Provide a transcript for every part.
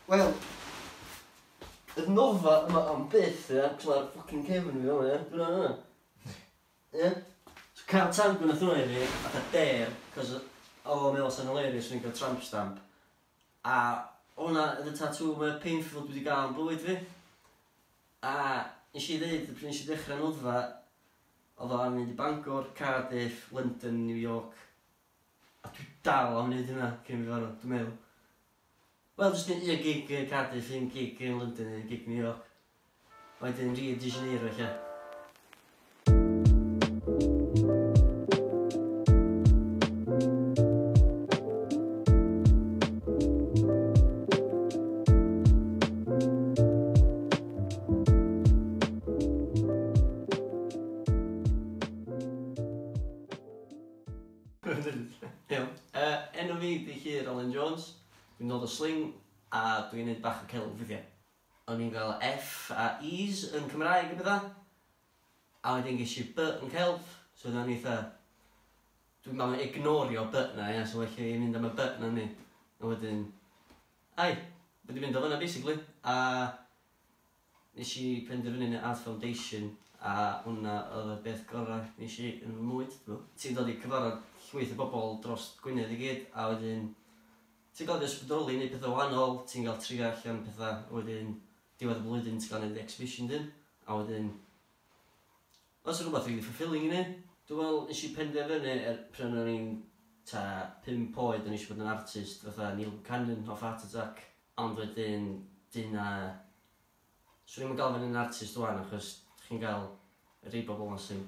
Wel, y nofa yma am byth, ia, cos mae'r fucking cefn fi fel 'na, ia. Dwi'n hwnna. Ia? So cael tango nath hwnna i fi, fatha dare, cos oedd o'n meddwl sa'n hilarious o'n i'n cael tramp stamp. A hwnna oedd y tattoo mwy painful dwi wedi gael yn bywyd fi. A nes i ddeud, pryd nes i ddechrau noddfa, oedd o am mynd i Bangor, Cardiff, London, New York. A dwi dal am wneud hynna cyn fi farw, dwi'n meddwl. Wel, jyst un gig yn Cardiff, un gig yn London, un gig New York. Wedyn Rio de Janeiro ella. Iawn. Enw fi 'di Llŷr Alun Jones. Dwi'n dod o Sling a dwi'n neud bach o celf weithiau. O'n i'n gael F a E's yn Cymraeg a petha, a wedyn ges i B yn celf, so oedd o'n eitha... Dwi'n meddwl ignorio B 'na ia, so well i fi mynd am y B 'na yndi? A wedyn, ai, wedi mynd o fan'na basically, a nes i penderfynu neud Art Foundation a hwnna oedd y beth gorau nes i yn fy mywyd, dwi'n meddwl. Ti'n dod i cyfarfod llwyth o bobl dros Gwynedd i gyd, a wedyn ti'n gael dy ysbrydoli i neud pethau wahanol, ti'n gael trio allan pethau, a wedyn diwedd y blwyddyn ti'n gael neud exhibition dyn, a wedyn os rhywbeth really fulfilling i neud. Dwi'n meddwl nes i penderfynu pryd o'n i'n ta 5 oed o'n i eisiau bod yn artist fatha Neil Buchanan off Art Attack, ond wedyn dyna... Swn i'm yn gael fyny yn artist wan achos chi'n gael rhai bobl yma sy'n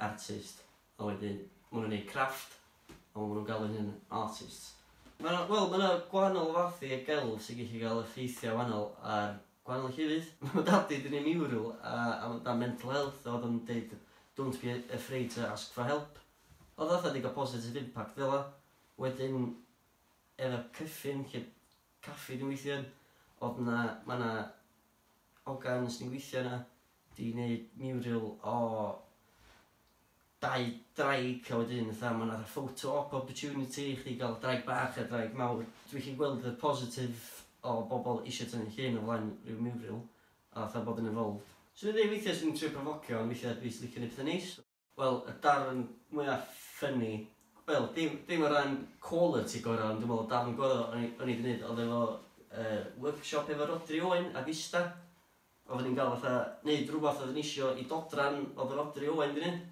artist a wedyn maen nhw'n gwneud crafft a maen nhw'n galw hyn artists. Mae wel, mae yna gwahanol fathau o gelf sy'n gallu cael effeithiau wahanol ar gwahanol llefydd. Mae dadi 'di neud mural a amdan mental health a oedd o'n deud "Don't be afraid to ask for help". Oedd fatha 'di gael positive impact fel 'a. Wedyn efo Cyffin, lle caffi dwi'n weithio yn, oedd 'na, ma' 'na hogan sy'n gweithio yna 'di neud mural o dau draig a wedyn fatha ma' 'na photo op opportunity i chdi gael draig bach a draig mawr. Dwi'n gallu gweld y positive o bobl eisiau tynnu llun o flaen rhyw mural a fatha bod yn involved. So dwi'n dweud weithiau sy'n trio profocio ond weithiau dwi jyst licio neud pethau neis. Wel, y darn mwyaf funny, wel, dim o ran quality gorau, ond dwi'n meddwl y darn gorau o'n i 'di wneud oedd efo workshop efo Rhodri Owen a Vista. Oedden ni'n gael fatha neud rhywbeth oedden ni isio i dodran oedd Rhodri Owen 'di neud.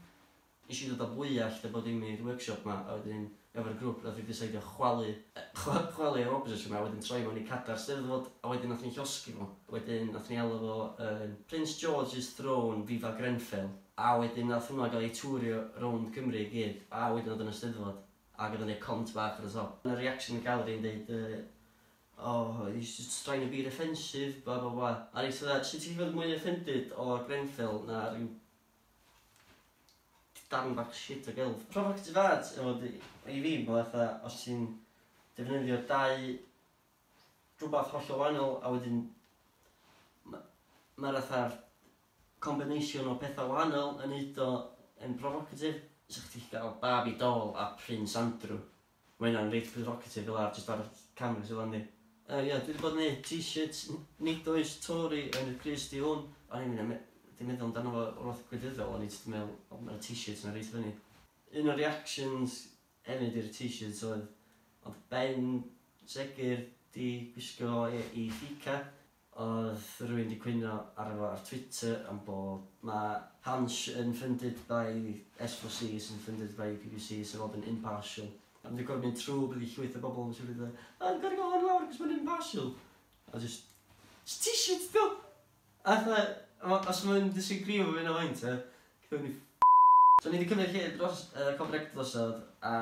Nes i ddod â fwyell a bod dim i'r workshop 'ma, a wedyn efo'r grŵp nath ni deceidio chwalu yr object yma, a wedyn troi mewn i cadar Steddfod, a wedyn nath ni llosgi fo. Wedyn nath ni alw fo Prince George's Throne Viva Grenfell, a wedyn nath hwnna gael ei tourio rownd Cymru i gyd, a wedyn oedd yn y Steddfod, ac oedd yn neud cont bach ar y top. Yna reaction y gallery yn deud, "Oh, he's just trying to be offensive, blah blah blah." A nes i fatha, sut ti'n gallu bod mwy offended o Grenfell na rhyw darn bach shit o gelf? Provocative art, efo i fi, mae fatha, os ti'n defnyddio dau rhywbeth hollol wahanol, a wedyn mae'r fatha'r combination o pethau wahanol yn neud o yn provocative. Sa chdi gael Barbie doll a Prince Andrew. Mae hynna'n reit provocative fel ar, just ar y canvas fel yndi. Ie, dwi wedi bod yn neud t-shirts, "Nid oes Tory yn y crys di hwn". O'n i'n mynd, dim meddwl amdano fo o'r fath gwleidyddol, o'n i jyst yn meddwl, o, mae'r t-shirts yna reit funny. Un o'r reactions hefyd i'r t-shirts oedd Ben Segur di gwisgo i fika. Oedd rhywun di cwyno ar efo ar Twitter am bod mae Hansh yn funded by S4C sy'n funded by BBC, sy'n fod yn impartial. A dwi'n gorfod mynd trwy byddu llwyth o bobl yn siŵr dweud, "A, dwi'n gorfod gael hwn lawr cos mae'n impartial." A just t-shirt do! A fatha, os mae'n disagree efo fi na faint, e, cyfni ni. So ni wedi cymryd lle dros Cofrec drosodd, a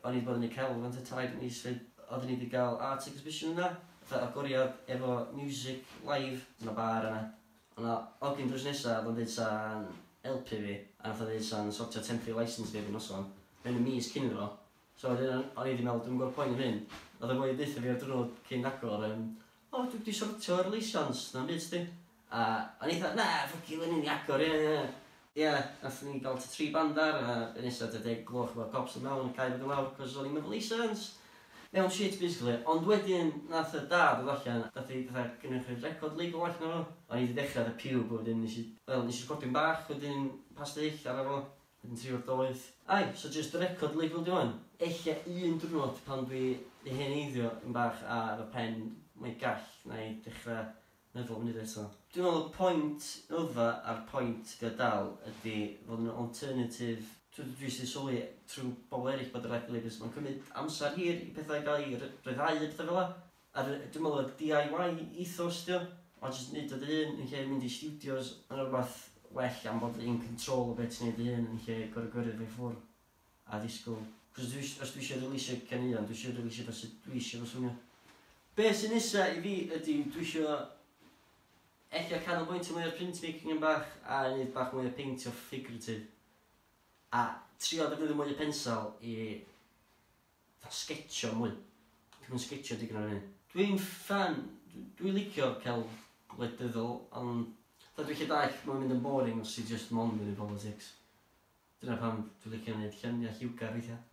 o'n i wedi bod yn ei celf yn tair mis fyd. Oedden ni wedi cael art exhibition yna, fatha agoriad efo music live, yna bar yna. O'na ogyn drws nesa, oedd o'n dweud sa'n helpu fi, a nath o dweud sa'n sortio temporary licence fi erbyn noson, mewn y mis cyn iddo fo. So wedyn o'n i wedi meddwl, dwi'n gweld poen yn hyn. Oedd y boi deutha fi ar diwrnod cyn agor, "O, dwi wedi sortio'r licence, na'n byd, sti." A o'n i fatha, "Na, fuck you, yn i agor, ie. Ie, nath ni gael tri band ar, a y nesaf 10 gloch mae'r cops yn mewn yn cael fynd lawr, cos o'n i'n efo licence. Mewn shit, basically. Ond wedyn, nath y dad ddod allan, nath i fatha gynnychu record label allan o fo. O'n i wedi dechrau ar y piwb, wedyn nes i, wel, nes i recordio'n bach, wedyn pastill ar efo, wedyn trio'r doedd. Ai, so just record label di wan. Ella un diwrnod pan dwi di heneiddio yn bach ar y pen mwy gall na i dechrau meddwl am wneud eto. Dwi'n meddwl y pwynt ydda a'r pwynt di o dal ydy fod yn alternative. Dwi sy'n sylwi trwy bobl eraill bod y record labels, mae'n cymryd amser hir i pethau gael ei ryddhau a pethau fel 'a. A dwi'n meddwl y DIY ethos dio, o jyst neud o dy hun yn lle mynd i studios, mae'n rhywbeth well am bod in control o beth ti'n neud dy hun yn lle gorau gyrru fe i ffwrdd a disgwyl. Cos os dwi eisiau releasio caneuon, dwi eisiau releasio fo sut dwi eisiau fo swnio. Be sy'n nesa i fi ydy dwi eisiau ella canolbwyntio mwy ar printmaking yn bach a neud bach mwy o peintio figurative. A trio defnyddio mwy o pensel i fatha sketcho mwy. Dwi'n sketcho digon ar hynny. Dwi'n fan, dwi'n licio celf gwleidyddol, ond fatha dwi'n lle dall, mae'n mynd yn boring os ti just mond yn y politics. Dyna pam dwi'n licio gwneud lluniau lliwgar weithiau.